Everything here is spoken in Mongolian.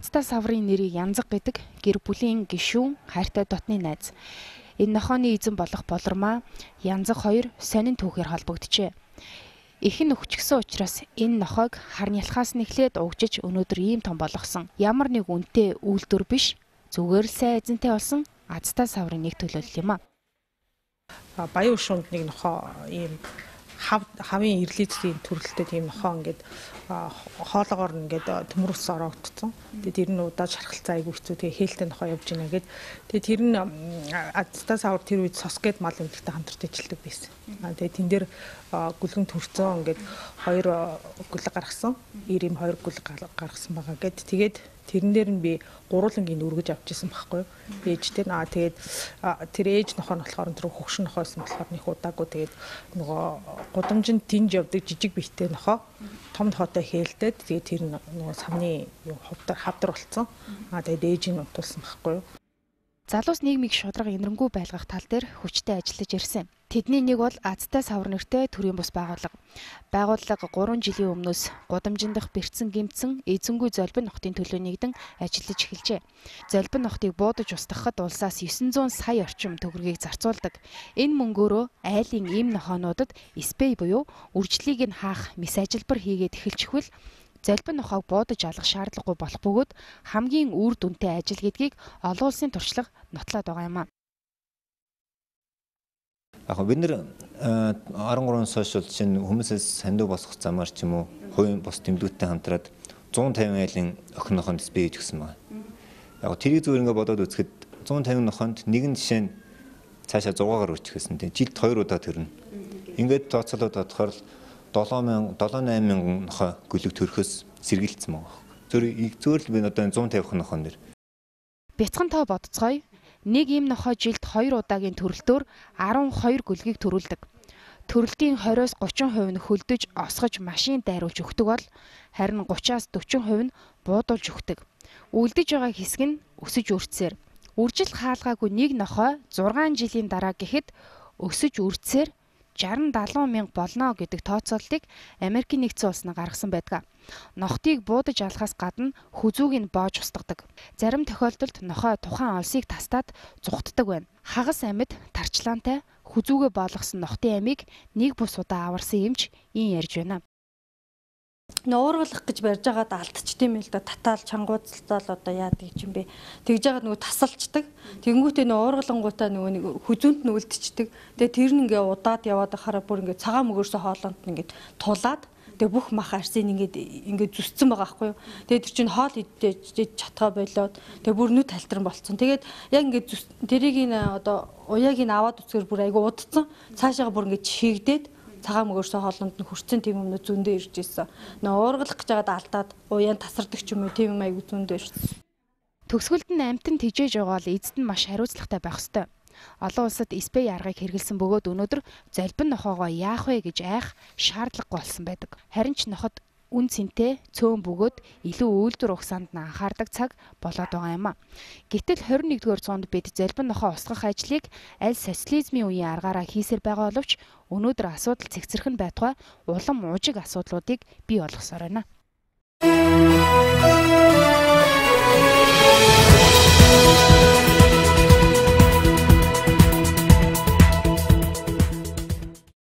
Азтай саврын нэрийг Янзаг гэдэг гэр бүлийн гишүүн хайртай дотны найз. Энэ нохооны эзэн болох Болормаа Янзаг хоёр сонин түүхээр холбогджээ. Эхэн өвчгсөн учраас энэ нохойг харны ялхаас нэхлээд угжиж өнөөдөр ийм том болгосон. Ямар нэг үнэтэй үйлдвэр биш, зүгээр л сайн эзэнтэй болсон Азтай саврын нэг төлөөлөл юм а. Баян шунд нэг нохоо ийм хавын ирлицлийн төрөлтэй тийм нохоо ингээд хоолоогоор ингээд төмөрс ороогдсон. Тэгээд тэр нь удаа шархалцаа айгүй хэцүү. Тэгээд хээлтэй нохоо явж гинэ гээд тэгээд тэр нь Азтай савар тэр үед сос гээд мал өмдөлтөй хамтарч ажилладаг байсан. Тэгээд тэн дээр гүлгэн төрцөн ингээд хоёр гүлэг гаргасан. 92 гүлэг гаргасан байгаа гээд тэгээд тэрэн дээр нь би гурвангийн үргэж авчихсан байхгүй юу. Ээжтэй тэгээд тэр ээж нохоо нь болохоор тэр хөгшин нохоосэн болохоор нэг удаагүй тэгээд нөгөө гудамжинд тинж явдаг жижиг бихтэй нохоо том нохоотой хээлдээд тэгээд тэр нөгөө самны хавдар болцсон. Тэгээд ээж нь утуулсан байхгүй юу. Залуус нийгмийг шударга энэрэнгүй байлгах тал дээр хүчтэй ажиллаж ирсэн. Тэдний нэг бол Азтай савар нэртэй төрийн бус байгууллага. Байгууллага 3 жилийн өмнөөс гудамжинд дах бэрцэн гэмтсэн эзэнгүй золбин нохтын төлөө нэгдэн ажиллаж эхэлжээ. Золбин нохтыг буудаж устгахад улсаас 900 сая орчим төгрөгийг зарцуулдаг. Энэ мөнгөөрөө айлын ийм нохоонуудад спей буюу үржлийг нь хаах мис ажилбар хийгээд эхэлчихвэл золбин нохоог буудаж алах шаардлагагүй болох бөгөөд хамгийн үр дүнтэй ажил гэдгийг олон улсын туршлага нотлоод байгаа юм а. Яг бид нэр 13 сошиал чинь хүмүүсээс сандуу босгох замаар ч юм уу хувийн бос тэмдгүүдтэй хамтраад 150 айлын охин нохонд спей хийж өгсөн байна. Яг тэрийг зүгээр ингээ бодоод үзэхэд 150 нохонд нэгэн жишээ нь цаашаа 6-аар үржихсэн тийм жилд 2 удаа төрнө. Ингээд тооцоолоод бодохоор 7-8 нохой гүлэг төрөхөөс сэргийлсэн байгаа. Зүгээр л би одоо 150 нохоон дэр. Бяцхан тоо бодцгоё. Нэг ийм нохой жилд 2 удаагийн төрөлтөөр 12 гүлгийг төрүүлдэг. Төрөлтийн 20-30% нь хөлдөж осгож машин дайруулж өгдөг бол харин 30-40% нь буудуулж өгдөг. Үлдэж байгаа хэсэг нь өсөж үрцсээр. Үржил хаалгаагүй нэг нохой 6 жилийн дараа гэхэд өсөж үрцсээр 60-70 мянга болно гэдэг тооцооллыг Америкийн нэгдсэн улс нь гаргасан байдаг. Нохтыг буудаж алахаас гадна хүзүүг нь боож устгадаг. Зарим тохиолдолд нохой тухайн олсыг тастаад зүхтдаг байна. Хагас амьд тарчлаантай хүзүүгээ боолгосон нохтын амийг нэг бус удаа аварсан юмч ийн ярьж байна. Уургалах гэж барьж байгаад алдчихдэм юм л да. Татаал чангуудцалцаал одоо яадаг юм бэ. Тэгж байгаад нөгөө тасалчдаг. Тэгэнгүүтээ нөгөө уургалангуудаа нөгөө нэг хүзүүнд нь үлдчихдэг. Тэгээ тэр нь ингээ удаад яваад хараа бүр ингээ цагаан мөгөөсөө хоолонд нь ингээ тулаад тэгээ бүх мах арсын ингээ зүсцэн байгаа байхгүй юу. Тэгээ тэр чинь хоол идэж чатгаа болоод тэгээ бүр нүд талтарн болцсон. Тэгээд яг ингээ тэрийг одоо уяаг нь аваад үцгээр бүр айгу удцсан. Цаашаага бүр ингээ чигдээд цагаан мөгөөсөө хоолонд нь хүрцэн тийм юмнууд зөндөө ирж ирсэн. Уургалах гэж байгаад алдаад уяан тасардаг ч юм уу тийм юм айгу зөндөө ирсэн. Төгсгөлд нь амтан тижээж байгаа бол эзэд нь маш хариуцлагатай байх ёстой. Олон улсад спей аргыг хэрэгэлсэн бөгөөд өнөөдөр золбин нохоогоо яах вэ гэж айх шаардлагагүй болсон байдаг. Харин ч ноход үн цэнтэй цөөн бөгөөд илүү үйлдвэр ухсаанд нь анхаардаг цаг болоод байгаа юм а. Гэтэл 21-р зуунд бид золбин нохоо устгах ажлыг аль социализмын үеийн аргаараа хийсээр байгаа боловч өнөөдөр асуудал цэгцэрхэн байтугай улам мужиг асуудлуудыг бий болгосоор байна.